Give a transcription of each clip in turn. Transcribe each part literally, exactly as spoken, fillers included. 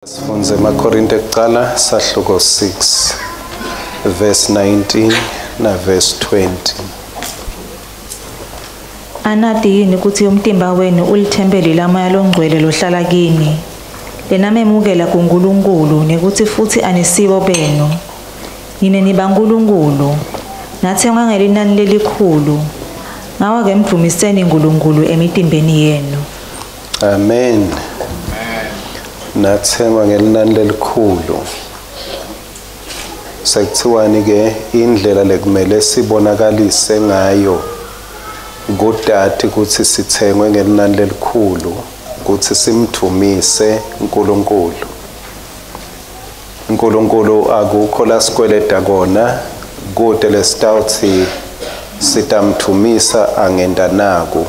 Sifunze emaKorinte kuqala sahluko six verse nineteen na verse twenty. Anati yini kutsi umtimba wenu ulithempeli laMoya Longcwele lohlala kini, lenamemukela kuNkulunkulu, nekutsi futsi anisibo benu? Nine nibaNkulunkulu, natsengwa ngelinani lelikhulu. Ngako-ke mdvumiseni Nkulunkulu emitimbeni yenu. Amen. Natsengwa ngelinani lelikhulu. Sekuthiwani ke indlela lekumele sibonakalise ngayo kudati kutsi sitsengwe ngelinani lelikhulu, kutsi simdvumise uNkulunkulu. uNkulunkulu akukho lasikweleta kona, kude lesitawutsi sitamdvumisa angenda naku,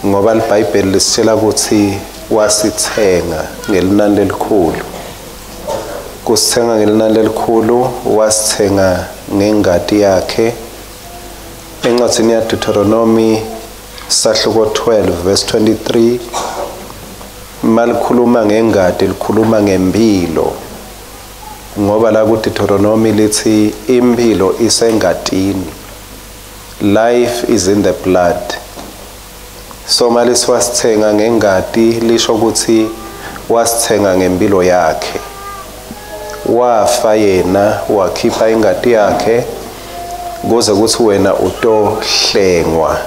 ngoba iBhayibheli lisitshela kutsi wasithenga ngelinani lelikhulu. Kusithenga ngelinani lelikhulu, wasithenga ngengati yakhe. Encwadzini ya Deuteronomy sahluko twelve verse twenty-three, malikhuluma ngengati likhuluma ngempilo, ngoba la ku Deuteronomy lithi impilo isengatini, life is in the blood. So malisi wasithenga ngengati lisho ukuthi wasithenga ngempilo yakhe, wafa yena wakhipha ingati yakhe kuze kuthi wena utohlengwa.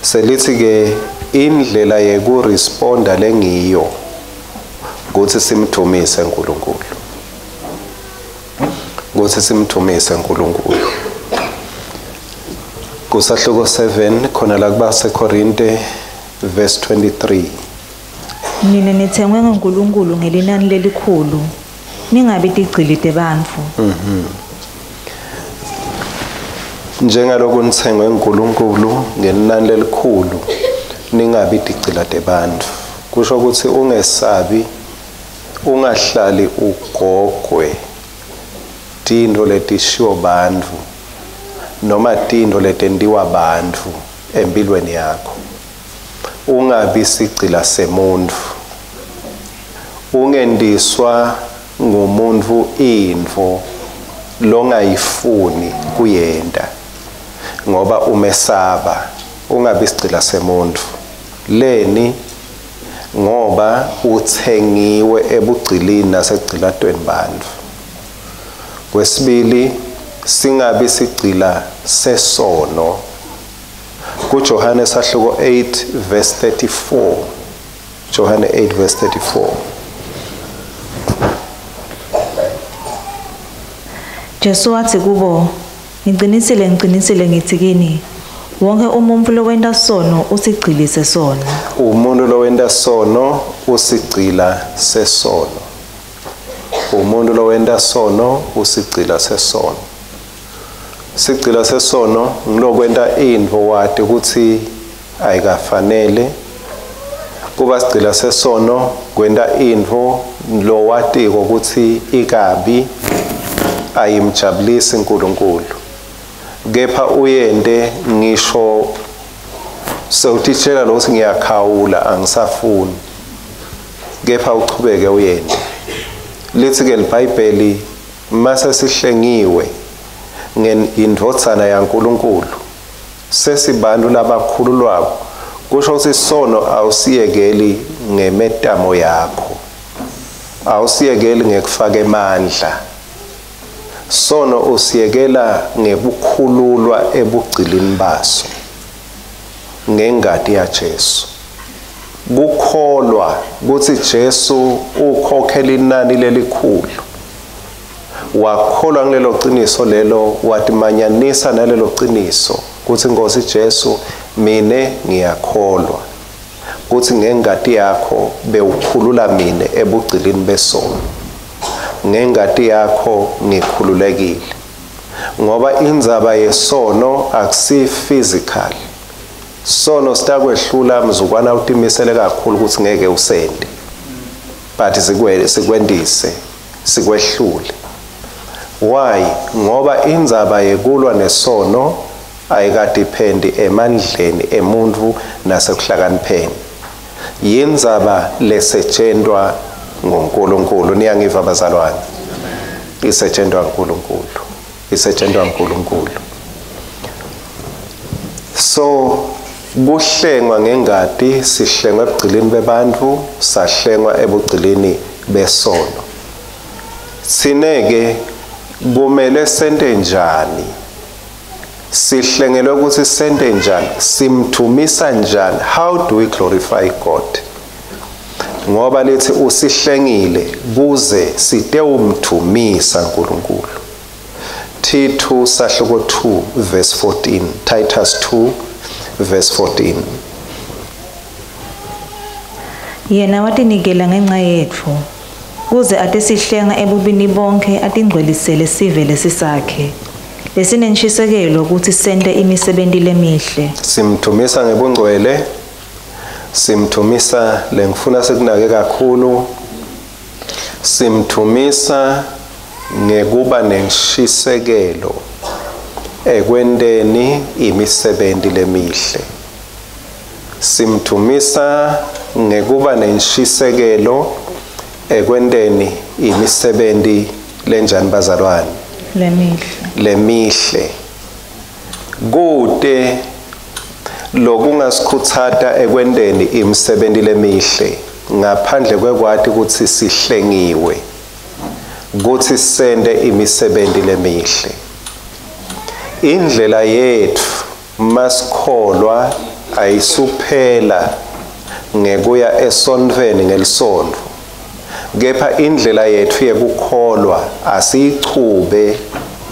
Selithi ke indlela yekuresponda lengiyo ukuthi simthumise uNkulunkulu, ukuthi simthumise uNkulunkulu. Kusahluko seven khona la kubaseKorinte verse twenty-three. Nine nitsengwe nguNkulunkulu ngelinani lelikhulu, ningabi tigcili tebantfu. Mhm. Njengaloku nitsengwe nguNkulunkulu ngelinani lelikhulu, ningabi tigcila tebantfu. Kusho ukuthi ungesabi, ungahlali ugogwe tintfo letishiwo bantfu noma tintfo letentiwa bantfu empilweni yakho. Ungabi sigcila semuntfu, ungendiswa ngumuntu intfo longayifuni kuyenta ngoba umesaba. Ungabi sigcila semuntfu leni, ngoba uthengiwe ebugcilini nasegcilatweni bantfu. Kwesibili, singabi sigcila sesono. KuJohane sahluko eight verse thirty-four. Johane eight verse thirty-four. Jesu wathi kubo, ngicinisile ngicinisile ngithi kini, wonke umuntu lowenta sono usigcili sesono. Umuntu lowenta sono usigcila sesono. Umuntu lowenta sono usigcila sesono. Sigcila sesono ngilokwenta intfo wati kutsi ayikafanele. Kuba sigcila sesono kwenta intfo lowatiko kutsi ikabi, ayimjabulisi uNkulunkulu, kepha uyente ngisho sewutitshela lokuthi ngiyakhawula angisafuni, kepha uchubeke uyente. Lithi ke iBhayibheli mase sihlengiwe ngendvodzana yaNkulunkulu, sesibantu labakhululwako. Kusho ukuthi sono awusiyekeli ngemetamo yakho, awusiyekeli ngekufaka emandla. Sono usiyekela ngekukhululwa ebugcilini baso ngengati yaJesu. Kukholwa kutsi Jesu ukhokhela inani lelikhulu, wakholwa ngilelo qiniso lelo, watimanyanisa nalelo qiniso kutsi Nkosi Jesu mine ngiyakholwa kutsi ngengati yakho bewukhulula mine ebugcilini besono, ngengati yakho ngikhululekile. Ngoba indzaba yesono akusi physical. Sono sitakwehlula mzukwana utimisele kakhulu ukuthi ngeke usende, but sikwendise sikwehlule. Why? Ngoba indzaba yekulwa nesono ayikadipendi emandleni emuntfu nasekuhlakanipheni. Yindzaba lesetshentwa nguNkulunkulu. Niyangiva bazalwane? Isetshentwa nguNkulunkulu, isetshentwa nguNkulunkulu. So kuhlengwa ngengati, sihlengwa ebugcilini bebantu, sahlengwa ebugcilini besono. Sineke kumele sente njani? Sihlengelwe ukuthi sente njani? Simthumisa njani? How do we glorify God? Ngoba lithi usihlengile kuze sitewumthumisa uNkulunkulu. Tithu sahluko two verse fourteen, Titus two verse fourteen. Yena watinikela ngenxa yetfu kuze atesihlenga ebubini bonke, atingcwelisele sive lesisakhe lesinenshisekelo ukuthi sente imisebenti lemihle. Simthumisa ngebungcwele, simthumisa lengifuna sikunake kakhulu, simthumisa ngekuba nenshisekelo ekwenteni imisebenti lemihle. Simthumisa ngekuba nenshisekelo ekwenteni imisebenti lenjani bazalwane? Lemihle. Lemihle. Kute lokungasikhutsata ekwenteni imisebenti lemihle ngaphandle kwekwati ukuthi sihlengiwe kutsi sente imisebenti lemihle. Indlela yetfu masikholwa ayisuphela ngekuya esontfweni ngelisontfo, kepha indlela yetfu yekukholwa asiyichube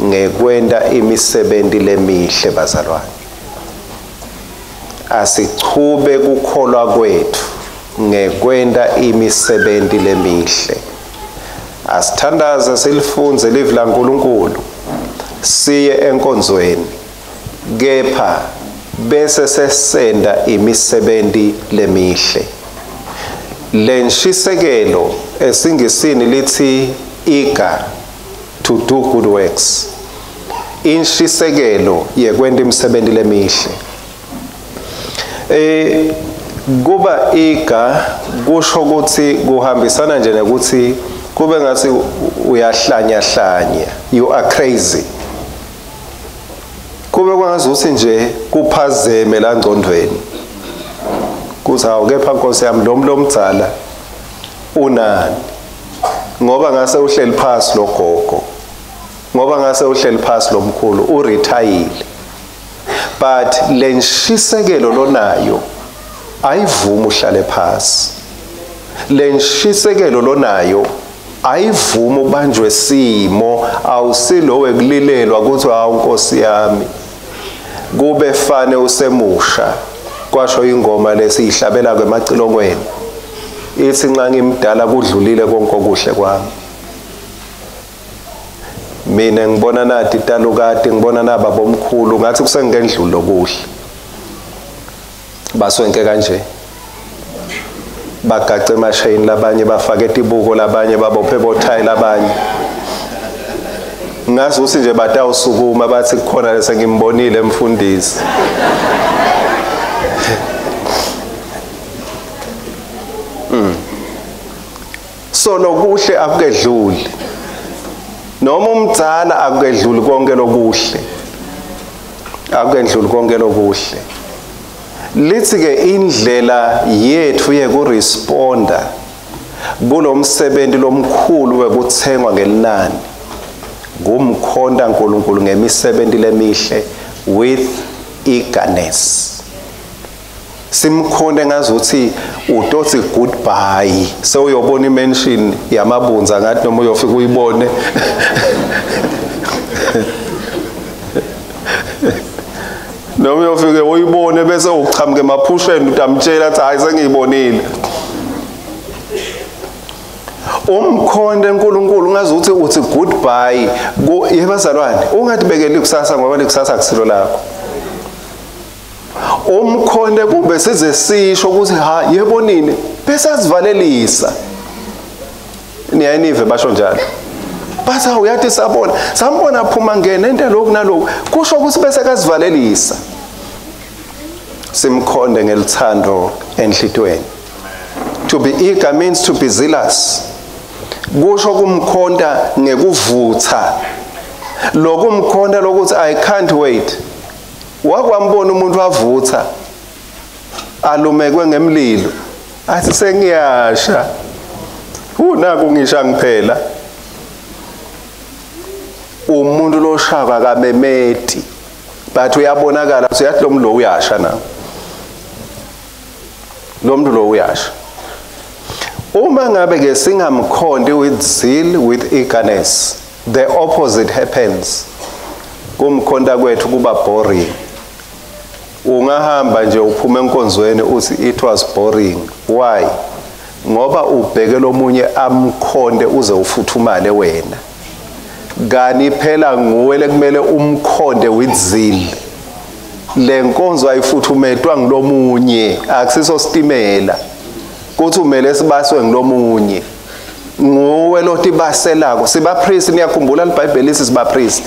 ngekwenta imisebenti lemihle bazalwane. Asichube kukholwa kwetfu ngekwenta imisebenti lemihle. Asithandaze silifundze livi laNkulunkulu, siye enkonzweni, kepha bese sesenda imisebenti lemihle. Lenshisekelo esingisini lithi eager to do good works, inshisekelo yekwenta imisebenti lemihle. Eh kuba eager kusho ukuthi kuhambisana nje nekuthi kube ngathi uyahlanya hlanya, you are crazy. Kube kwangazuthi nje kuphazeme la ngcondweni kuthi hawu kepha Nkosi yami lo mlomdzala unani, ngoba ngase uhleli phasi lo gogo, ngoba ngase uhleli phasi lo mkhulu uretire. But lenshisekelo lonayo ayivumi uhlale phasi. Lenshisekelo lonayo ayivumi ubanjwe simo, awusilo wekulilelwa ukuthi hawu Nkosi yami kube fane usemusha. Kwasho ingoma lesiyihlabela kwemacilongweni ithi nxa ngimdala kudlulile konke okuhle kwami. Mina ngibona nathi talukati, ngibona naba bomkhulu, ngathi kusengendlulo kuhle. Baswenke kanje bagace emashayini labanye, bafake tibuko labanye, babophe bothayi labanye. Ngazi ukuthi nje batawusukuma bathi kukhona lesengimbonile emfundisi. Mm. So lokuhle akukedluli, noma umdzala akukedluli konke lokuhle, akukedluli konke lokuhle. Lithi ke indlela yethu yekuresponda kulomsebenzi lomkhulu wekuthengwa ngelinani kumkhonta uNkulunkulu ngemisebenzi lemihle with eagerness. Simkhonde ngazuthi utothi goodbye, sewuyobona imention yamabunza ngathi noma uyofika uyibone. Noma uyofike uyibone bese uqhamuke emaphusheni utamtshela athi hayi sengiyibonile. Umkhonde uNkulunkulu ngazuthi uthi goodbye yebazalwane, ungathi bekele ikusasa ngoba likusasa akusilo lakho. Umkhonde kube size sisho ukuthi ha yebo nini bese azivalelisa. Niyayinive basho njalo. Bathi uyathi sabona, sambona aphuma ngene into lokhu nalokhu, kusho ukuthi bese kazivalelisa. Simkhonde ngelithando enhlitweni. To be eager means to be zealous. Kusho kumkhonta ngekuvutha. Lokumkhonta lokuthi I can't wait. Wakwambona umuntu avutha alumekwe ngemlilo athi sengiyasha, unaku ngisha ngiphela. Umuntu loshaka kamemeti, but uyabonakala uyathi lo muntu lo uyasha na, lo muntu lo uyasha. Uma ngabe ke singamkhonti with zeal, with eagerness, the opposite happens. Kumkhonta kwethu kuba boring. Ungahamba nje uphume enkonzweni uthi it was boring. Why? Ngoba ubheke lomunye amkhonde uze ufuthumale wena. Kani phela nguwe lekumele umkhonde with zeal. Le nkonzo ayifuthumetwa ngilomunye, akusiso sitimela. Kuthi umele sibaswe ngilomunye. Nguwe lotibaselako. Siba priest, niyakhumbula iBhayibheli lithi siba priest.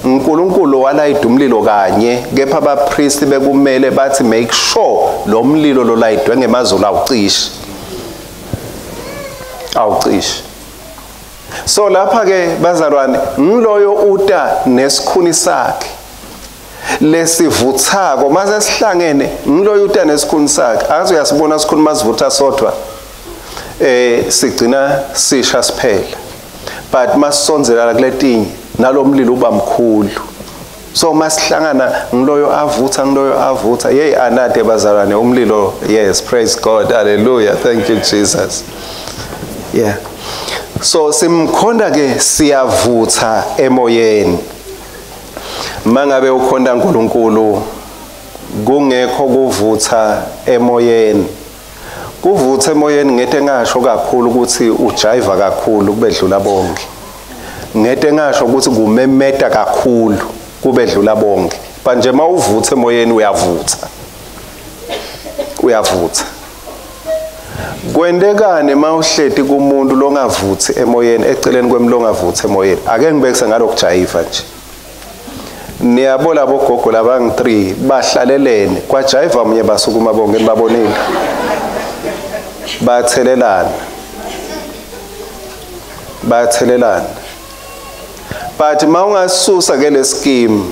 uNkulunkulu walayida umlilo kanye, kepha abapriest bekumele bathi make sure lo mlilo lo layidwe ngemazulu awucishi. Awucishi. So lapha ke bazalwane, ngiloyo uta nesikhuni sakhe lesivuthako mase sihlangene, ngiloyo uta nesikhuni sakhe. Akaze uyasibona sikhuni masivutha sodwa, eh sigcina sisha siphela. But masondzela kuletinye nalomlilo uba mkhulu. So masihlangana ngiloyo avutha, ngiloyo avutha. Hey anade bazalwane, umlilo. Yes, praise God, hallelujah, thank you Jesus. Yeah. So simkhonda ke siyavutha emoyeni. Mangabe ukhonda uNkulunkulu kungekho kuvutha emoyeni. Kuvutha emoyeni ngete ngasho kakhulu ukuthi ujiva kakhulu kubedlula bonke. Ngete ngasho ukuthi kumemeta kakhulu kubedlula bonke. Manje mawuvutha emoyeni uyavutha. Uyavutha. Kwendekane mawuhleti kumuntu longavuthi emoyeni, eceleni kwemlongavuthi emoyeni. Ake ngibekise ngalokujayiva nje. Niyabo labo gogo labangu three bahlalelene kwajayiva munye basukuma bonke nibabonile. Bathelelana. Bathelelana. But mawungasusa ke le scheme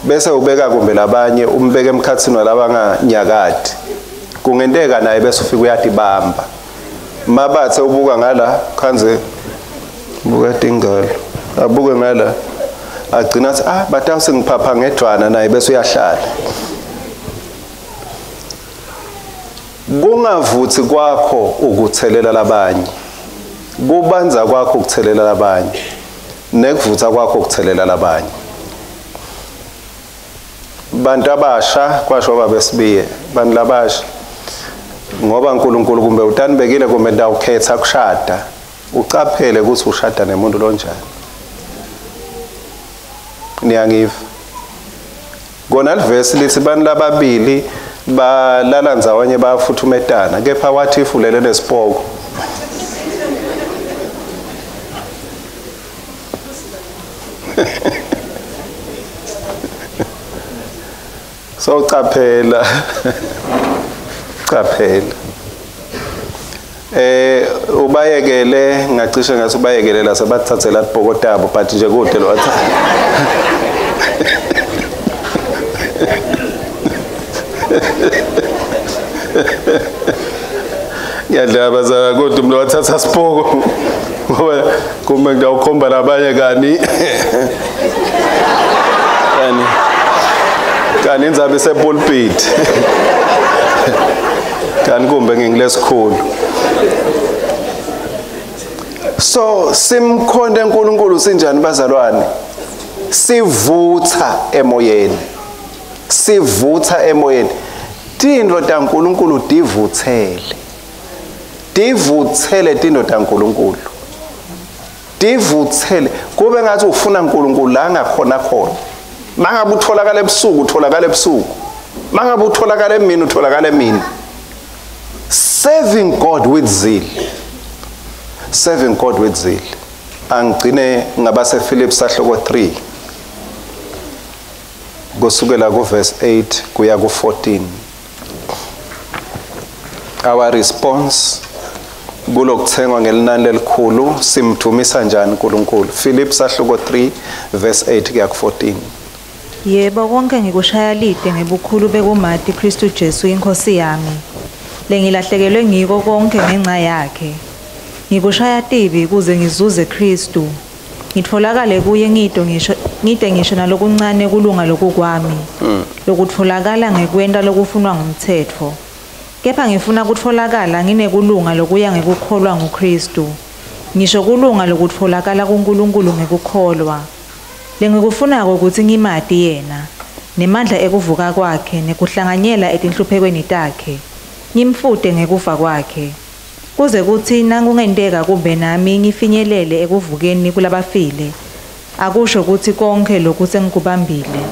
bese ubeka kumbe labanye umbeke emkhathini walabanganyakadi, kungenteka naye bese ufika uyadibamba. Mabathe ubuka ngala khanze buka tingalo, abuke ngala agcina athi ah batawuse ngiphapha ngedwana naye bese uyahlala. Kungavuthi kwakho ukuthelela labanye, kubanza kwakho ukuthelela labanye, nekuvutha kwakho ukuthelela labanye. Bantu abasha kwasho babesibiye, bantu labasha ngoba uNkulunkulu kumbe utanibekile kumbe ndawukhetha kushada, ucaphele ukuthi ushada nemuntu lonjani. Niyangiva? Kona livesi lithi bantu lababili balala ndzawonye bayafuthumetana, kepha wathi ifulele nesipoko. So caphela. Caphela. Eh ubayekele ngacishe ngathi ubayekele la sebathathela ibhokotabo, but nje kude lo wathi. Ngiyadlala bazala kodwa umuntu wathatha sipoko ngoba kumbe ngiyawukhomba labanye kani kani kani inzabe sepulpit kani kumbe ngingilesikhulu. So simkhonde uNkulunkulu sinjani bazalwane? Sivutha emoyeni. Sivutha emoyeni. Tindvo taNkulunkulu divuthele. Divuthele tindvo taNkulunkulu. Divuthele kube ngathi ufuna uNkulunkulu la ngakhona khona. Mangabe utholakala ebusuku utholakala ebusuku. Mangabe utholakala emini utholakala emini. Serving God with zeal. Serving God with zeal. Angigcine ngabase Philippi sahloko three. Kusukela ku verse eight kuya ku fourteen. Our response kulokuthengwa ngelinani lelikhulu, simdumisa njani uNkulunkulu? Philip sahluko three verse eight kuya ku fourteen. Yebo, konke ngikushaya lide ngebukhulu bekumati Kristu Jesu inkosi yami, lengilahlekelwe ngiko konke ngenxa yakhe. Ngikushaya tibi kuze ngizuze Kristu, ngitfolakale kuye ngito ngisho ngide ngisho nalokuncane kulunga lokukwami, lokutfolakala ngekwenta lokufunwa ngumtsetfo. Kepha ngifuna kutfolakala nginekulunga lokuya ngekukholwa nguKristu, ngisho kulunga lokutfolakala kuNkulunkulu ngekukholwa. Lengikufunako kutsi ngimati yena, nemandla ekuvuka kwakhe, nekuhlanganyela etinhluphekweni takhe, ngimfute ngekufa kwakhe, kuze kutsi nakungenteka kube nami ngifinyelele ekuvukeni kulabafile. Akusho kutsi konke lokhu sengikubambile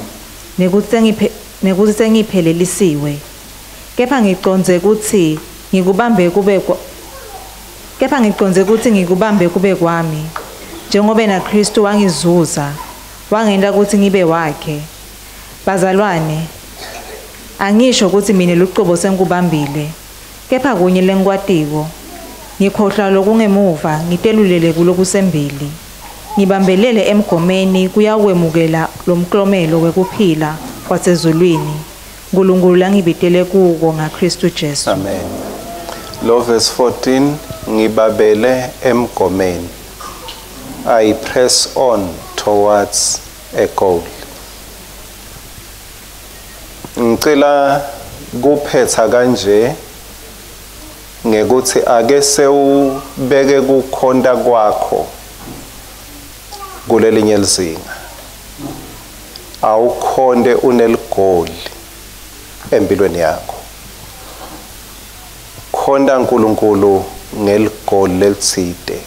nekutsi sengiphelelisiwe, kepha ngicondze kutsi ngikubambe kube kepha ngicondze kutsi ngikubambe kube kwami, njengoba naKristu wangizuza wangenta kutsi ngibe wakhe. Bazalwane, angisho kutsi mina lucobo sengikubambile, kepha kunye lengikwatiko, ngikhohlwa lokungemuva ngitelulele kulokusembili, ngibambelele emgomeni kuyawemukela lomklomelo wekuphila kwasezulwini Nkulunkulu langibitele kuko ngaKristu Jesu. Amen. Lo verse fourteen, ngibabele emgomeni. I press on towards a goal. Ngicela kuphetha kanje ngekuthi ake sewubeke kukhonta kwakho kulelinye lizinga. Awukhonde uneligoli empilweni yakho. Khonta uNkulunkulu ngeligoli lelitsite.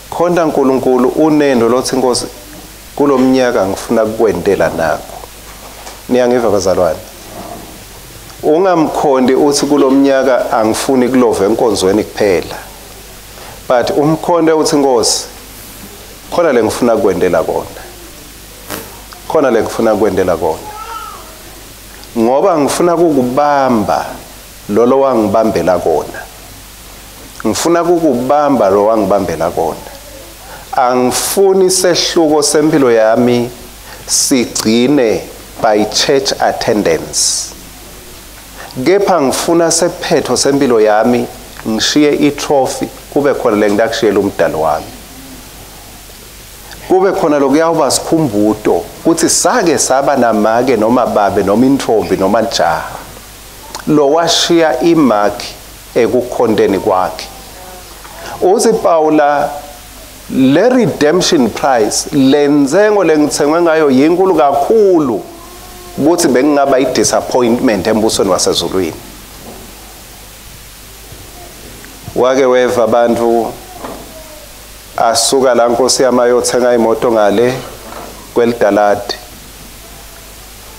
Khonta uNkulunkulu unendo lothi Nkosi kulomnyaka ngifuna kukwentela nakho. Niyangiva bazalwane? Ungamkhondi uthi kulomnyaka angifuni kulova enkonzweni kuphela, but umkhonde uthi Nkosi khona lengifuna kukwentela kona, khona lengifuna kukwentela kona, ngoba ngifuna kukubamba lolo wangibambela kona, ngifuna kukubamba lo wangibambela kona. Angifuni sehluko sempilo yami sigcine by church attendance, kepha ngifuna sephetho sempilo yami ngishiye itrophy, kube khona lengitakushiyela umdalo wami, kube khona lokuyawuba sikhumbuto kuthi sake saba namake noma babe noma intombi noma lijaha lo washiya imark ekukhonteni kwakhe. Uthi Paula, le redemption price, lentsengo lengithengwe ngayo yinkulu kakhulu ukuthi bengingaba i-disappointment embusweni wasezulwini. Wake weva abantu asuka la Nkosi yami ayothenga imoto ngale kwelidaladi,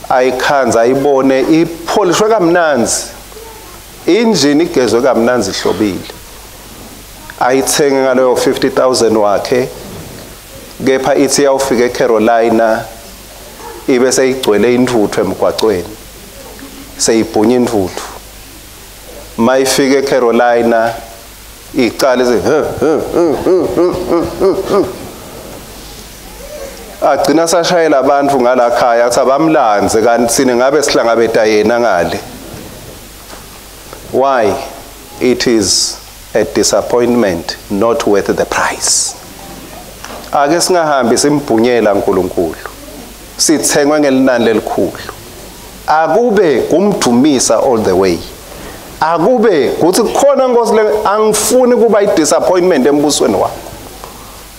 ayikhanza ayibone ipholishwe kamnanzi, injini igezwe kamnanzi ihlobile, ayithenge ngaleyo fifty thousand wakhe, kepha ithi yawufika eCarolina ibe seyigcwele intuthu emgwaqweni, seyibhunya intuthu. Mayifika eCarolina iqale ithi agcina sashayela abantu ngalakhaya athi abamlanze, kanti sine ngabe sihlangabeta yena ngale. Why? It is a disappointment not worth the price. Ake singahambi simbhunyela uNkulunkulu, sithengwe ngelinani lelikhulu. Akube kumdumisa all the way. Akube kuthi khona Nkosi le angifuni kuba i-disappointment embusweni wakho,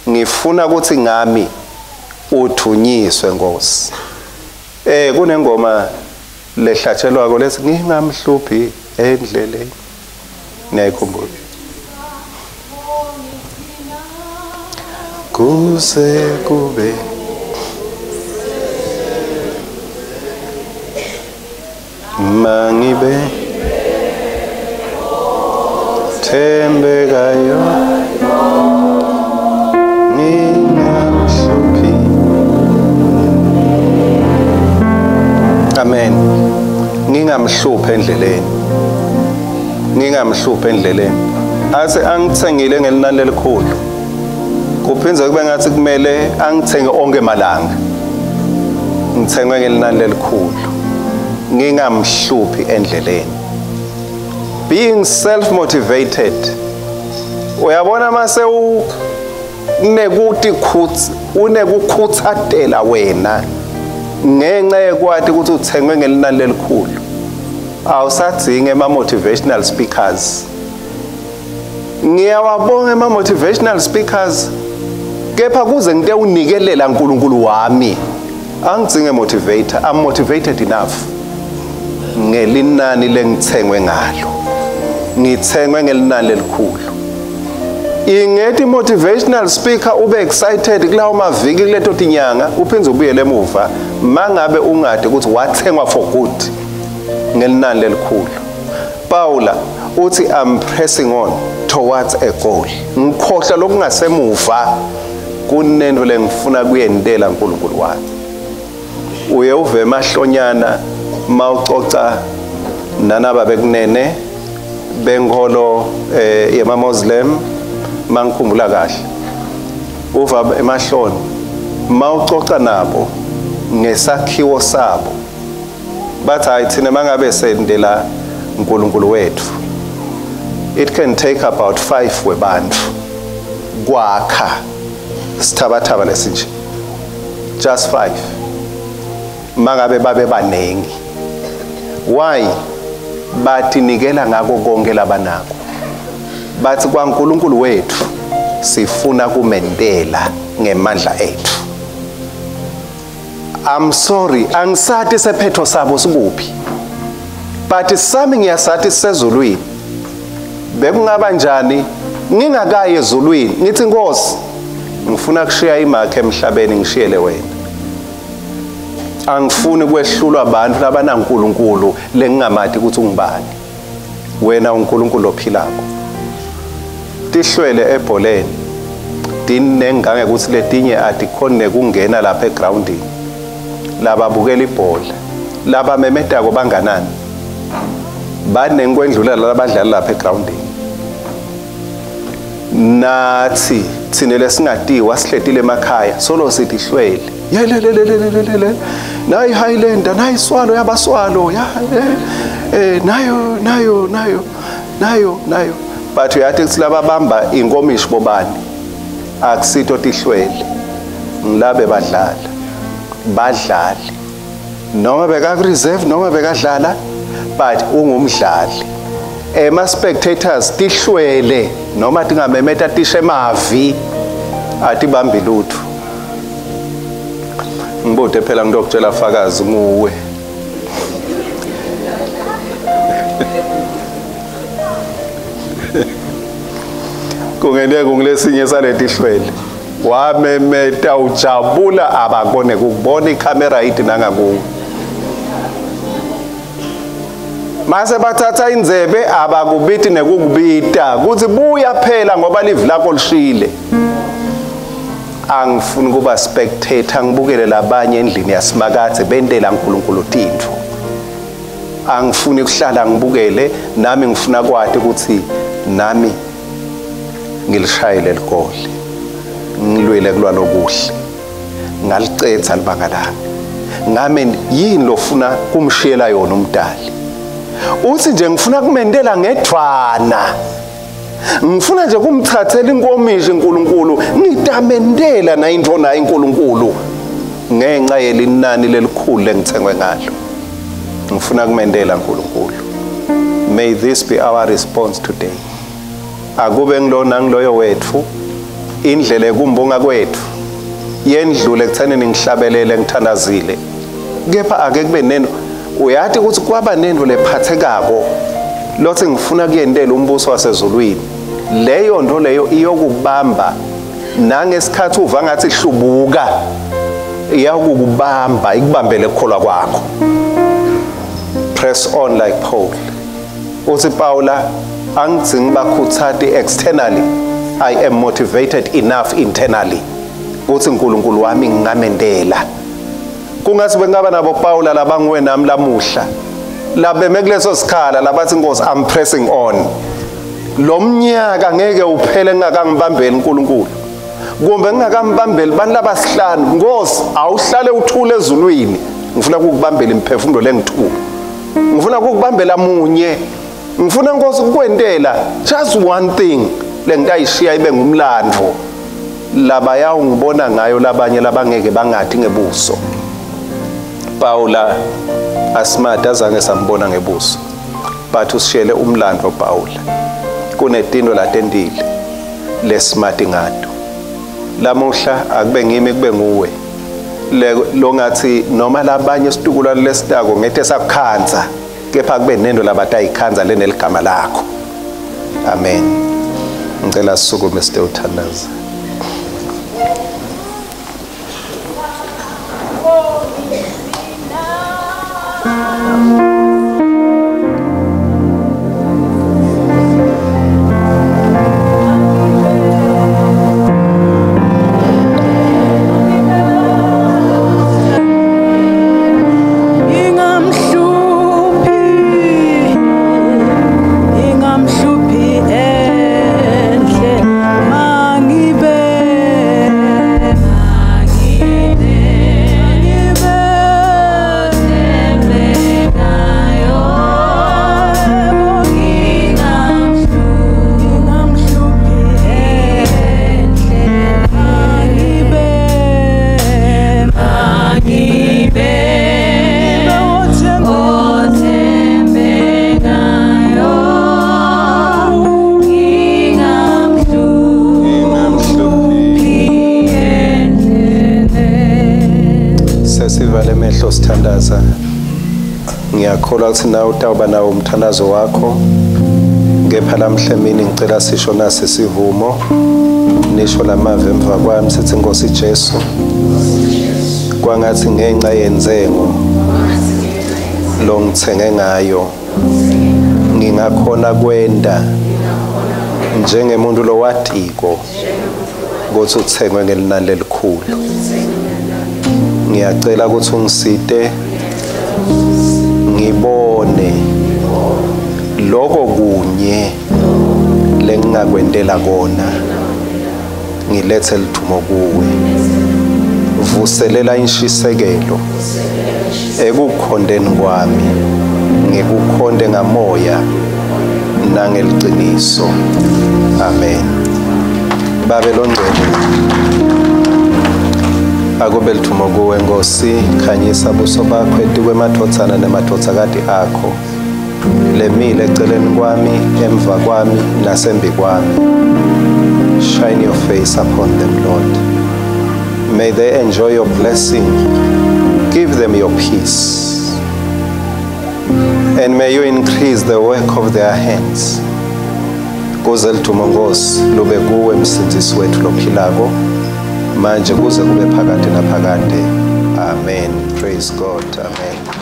ngifuna ukuthi ngami uthunyiswe Nkosi. Eh kunengoma lehlatshelwako lethi ngingamhluphi endleleni, niyayikhumbula? Kuze kube mangibe thembekayo ngingamhluphi. Amen. Ngingamhluphi endleleni. Ngingamhluphi endleleni. Ase angithengile ngelinani lelikhulu. Kuphindze kube ngathi kumele angithenge onke malanga. Ngithengwe ngelinani lelikhulu. Ngingamhluphi endleleni. Being self-motivated. Uyabona mase unekuthi khutsi unekukhuthatela wena ngenxa yekwati ukuthi uthengwe ngelinani lelikhulu. Awusadzingi ema motivational speakers. Ngiyawabonga ema motivational speakers kepha kuze ngite unikelela uNkulunkulu wami angidzinge motivator. I'm motivated enough ngelinani lengithengwe ngalo. Ngithengwe ngelinani lelikhulu. Ingethi motivational speaker ube excited kulawo maviki kuleto tinyanga uphindze ubuyele emuva mangabe ungade ukuthi wathengwa for good ngelinani lelikhulu. Paula uthi I'm pressing on towards a goal. Ngikhohlwa lokungasemuva kunento lengifuna kuyendela uNkulunkulu wami. Uye uve emahlonyana mawucoca nanaba bekunene benkholo eh, yema Muslim mangikhumbula kahle. Uva emahloni mawucoca nabo ngesakhiwo sabo bathi hayi thina mangabe sendela uNkulunkulu wethu it can take about five webantu kwakha sithabathaba lesinje just five mangabe babe banengi. Why? Bathi nikela ngako konke labanako. Bathi kwaNkulunkulu wethu sifuna kumendela ngemandla ethu. I'm sorry, angisathi sephetho sabo sikuphi. But sami ngiyasathi sezulwini. Bekungaba njani ngingakayi ezulwini ngithi Nkosi ngifuna kushiya imakhe emhlabeni ngishiyele wena. Angifuni kwehlulwa abantu labanaNkulunkulu lengingamati ukuthi ungubani. Wena uNkulunkulu ophilako. Tihlwele ebholeni dinengange ukuthi letinye adikhone kungena lapha egroundini. Lababukela ibhola labamemedako banganani banekwendlula labadlala lapha egroundini. Nathi thina lesingatiwa sihletile emakhaya solo sithi hlwele yelelelelelele nayi Highlander nayi Swalo yabaswalo ya eh nayo nayo nayo nayo nayo but uyathi kuthi lababamba inkomishi bobani akusitho tihlwele ngilabe badlala badlali noma beka reserve noma bekadlala but ungumdlali. Ema spectators tihlwele noma tingamemeta tishe mavi atibambi lutho. Ngibode phela ngidokutshela fakazi nguwe. Kungene kungilesinye saletihlwele wamemeta ujabula abakone ukubona ikhamera ithi nangakuwe. Mase bathatha inzebe abakubiti nekukubita kuthi buya phela ngoba live lakho lishile. Angifuni kuba spectator ngibukele labanye endlini yasimakathe bentela uNkulunkulu tintfo. Angifuni ukuhlala ngibukele nami ngifuna kwati ukuthi nami ngilishayile ligoli. Ngilwele kulwa lokuhle. Ngalicetha libanga lami. Ngame yini lofuna kumshiyela yona umdali? Uthi nje ngifuna kumendela ngedvwana. Ngifuna nje kumthathela inkomishi uNkulunkulu ngitamendela na into nayo uNkulunkulu ngenxa yelinani lelikhulu lengithengwe ngalo. Ngifuna kumendela uNkulunkulu. May this be our response today. Akube ngilona ngiloyo wethu indlela ekumbonga kwethu yendlule ekuthenini ngihlabelele ngithandazile kepha ake kube neno uyathi ukuthi kwaba nento lephathekako lothi ngifuna kuyendela umbuso wasezulwini. Leyo nto leyo iyokubamba nangesikhathi uva ngathi hlubuka iyakubamba ikubambele ukukholwa kwakho. Press on like Paul. Uthi Paula angidzingi bakhuthati externally, I am motivated enough internally kuthi uNkulunkulu wami ngingamendela. Kungathi bengaba nabo Paula labanguwe nami lamuhla Labeme kuleso sikhala labathi Nkosi I'm pressing on. Lo mnyaka ngeke uphele ngingakangibambeli uNkulunkulu. Kumbe ngingakambambeli bantu labasihlanu. Nkosi awuhlale uthule ezulwini. Ngifuna ukukubambela imphefumulo lengithuka. Ngifuna ukukubambela munye. Ngifuna Nkosi ukukwentela just one thing lengitayishiya ibe ngumlandvo. Labaya ungibona ngayo labanye labangeke bangathi ngebuso. Paula asimati azange sambona ngebuso. But usishiyele umlandvo Paula. Kunetinto latentile lesimati ngato. Lamuhla akube ngimi kube nguwe. Lo ngathi noma labanye situkulwane lesitako ngethe sakukhanza kepha kube nento labatayikhanza leneligama lakho. Amen. Ngicela sisukume site uthandaza. Sithandaza. Ngiyakholwa ukuthi nawe utawuba nawo umthandazo wakho. Kepha lamhla emini ngicela sisho nasi sivumo. Nisho lamavi emva kwami sithi Nkosi Jesu. Kwangathi ngenxa yenzengo lo ngithenge ngayo ngingakhona kwenda njengemuntu lowatiko ukuthi uthengwe ngelinani lelikhulu. Ngiyacela ukuthi ungisite ngibone lokho kunye lengingakwentela kona ngilethe lithumo kuwe. Vuselela inshisekelo ekukhondeni kwami ngikukhonde ngamoya nangeliciniso. Amen. Babe longcwele, akube lithumo kuwe Nkosi, khanyisa buso bakho etikwemadvodzana nemadvodzakati akho lemile eceleni kwami, emva kwami nasembi kwami. Shine your face upon them, Lord. May they enjoy your blessing. Give them your peace. And may you increase the work of their hands. Kuze lithumo Nkosi lube kuwe msindzisi wethu lophilako manje kuze kube phakade naphakade. Amen. Praise God. Amen.